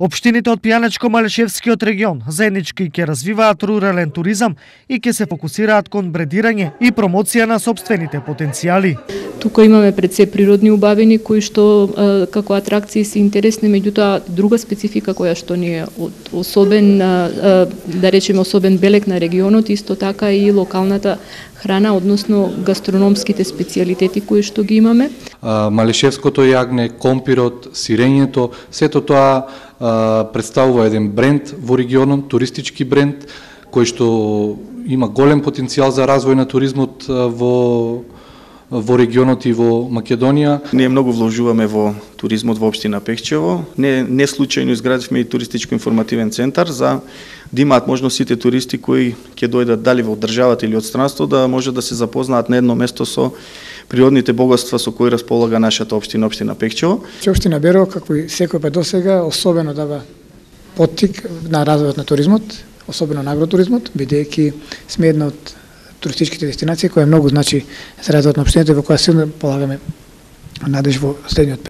Општините од Пијанечко-Малешевскиот регион заеднички ќе развиваат рурален туризам и ќе се фокусираат кон бредирање и промоција на сопствените потенцијали. Тука имаме пред се природни убавини кои што како атракции се интересни, меѓутоа друга специфика која што ни е особен, да речеме особен белег на регионот, исто така и локалната храна, односно гастрономските специјалитети кои што ги имаме. Малешевското јагне, компирот, сирењето, сето тоа представува еден бренд во регионот, туристички бренд, кој што има голем потенцијал за развој на туризмот во регионот и во Македонија. Ние многу вложуваме во туризмот во општина Пехчево. Не случајно изградивме и туристичко-информативен центар за да имаат можност сите туристи кои ќе дојдат дали во државата или од странство да може да се запознаат на едно место со природните богатства со кои располага нашата општина, општина Пехчево. Општина Берово, како и секој пат досега, особено дава поттик на развојот на туризмот, особено на агротуризмот, бидејќи сме една од туристичките дестинации која многу значи за развојот на општината и во која силно полагаме надеж во следниот